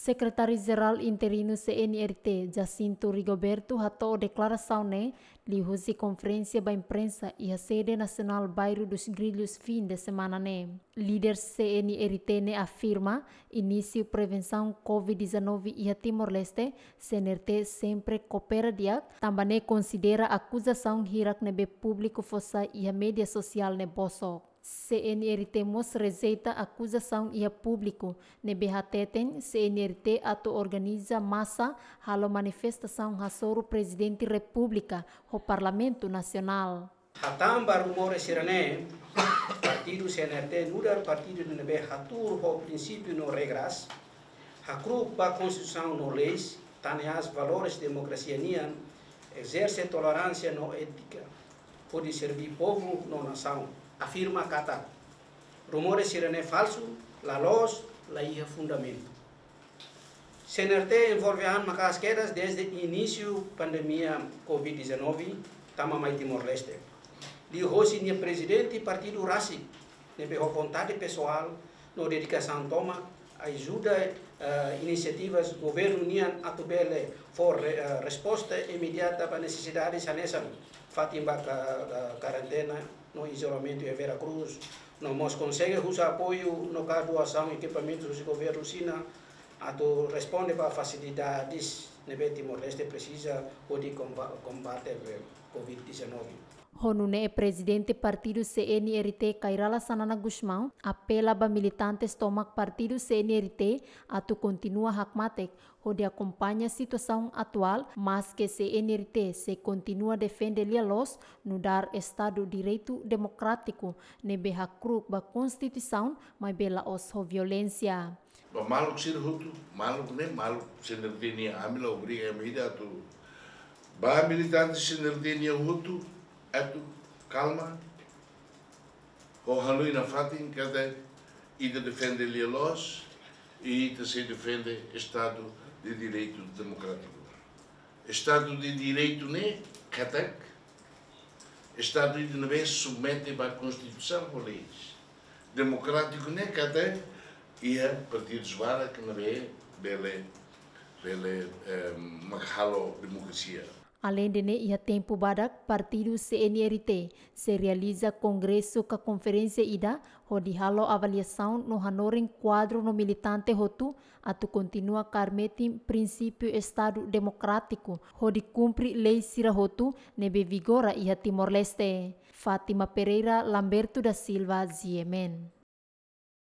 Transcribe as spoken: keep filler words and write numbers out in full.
Sekretáriu-Jerál Interinu C N R T, Jacinto Rigoberto, hato'o deklarasaun ne'e liuhusi konferénsia ba imprensa iha sede nasionál Bairro dos Grillos fin de semana ne'e. Líder C N R T ne'e afirma, inísiu prevensaun covid dezanove iha Timor-Leste, C N R T sempre koopera di'ak, tanba ne'e konsidera akuzasaun hirak ne'ebé públiku fó sai iha média sosiál ne'e bosok. C N R T mós rejeita akuzasaun iha públiku ne'ebé hateten C N R T atu organiza masa halo manifestasaun hasoru Prezidente Repúblika ho Parlamentu Nasionál. Hatán ba rumores sira-ne'e, partidu C N R T nu'udar partidu ne'ebé hatuur ho prinsípiu no regras, hakru'uk ba Konstituisaun no leis, tan ne'e hanesan valores demokrasia nian, ezerse toleránsia no étika, hodi serbí povu no nasaun, afirma katak rumores sira-ne'e falsu, la loos, la iha fundamentu. C N R T envolve an maka'as kedas dezde inísiu pandemia covid dezanove tama mai Timor-Leste. Liuhosi nia prezidente partidu rasik, ne'ebé ho vontade pesoál no dedikasaun tomak ajuda, eh, inisiativas governu nian atu bele fó re-, eh, resposta imediata ba nesesidade hanesan fatin ba ka-, ka-, karentena no izolamentu iha Vera Cruz, no mós konsege husu apoiu no ka doasaun ekipamentu husi governu Xina atu responde ba fasilidades ne'ebé Timor-Leste presiza hodi komba-, kombate covid dezanove. Ho nune'e Prezidente Partidu C N R T Kay Rala Xanana Gusmão apela ba militantes tomak Partidu C N R T atu kontinua hakmatek hodi akompaña situasaun atuál, maske C N R T sei kontinua defende lia-loos nu'udar Estadu Direitu Demokrátiku ne'ebé hakru'uk ba Konstituisaun, maibé la'ós ho violénsia. Ba maluk sira hotu, maluk ne'e, maluk C N R T nian, ami la obriga ami ida atu. Ba militante C N R T nian hotu, atu kalma, ho hanoin nafatin katak ita defende lia-loos, i ita sei defende Estadu de Direitu Demokrátiku. Estadu de Direitu ne'e katak Estadu ida ne'ebé submete ba Konstituisaun ho leis. Demokrátiku ne'e katak iha partidus barak ne'ebé bele, bele, eh, mak halo demokrasia. Aleinde ne'e, iha tempu badak, partidu C N R T sei realiza kongresu ka konferénsia ida hodi halo avaliasaun no hanorin kuadru no militante hotu atu kontinua kaer metin prinsípiu Estadu Demokrátiku hodi kumpre lei sira hotu ne'ebé vigora iha Timor-Leste. Fátima Pereira, Lamberto da Silva, G M N.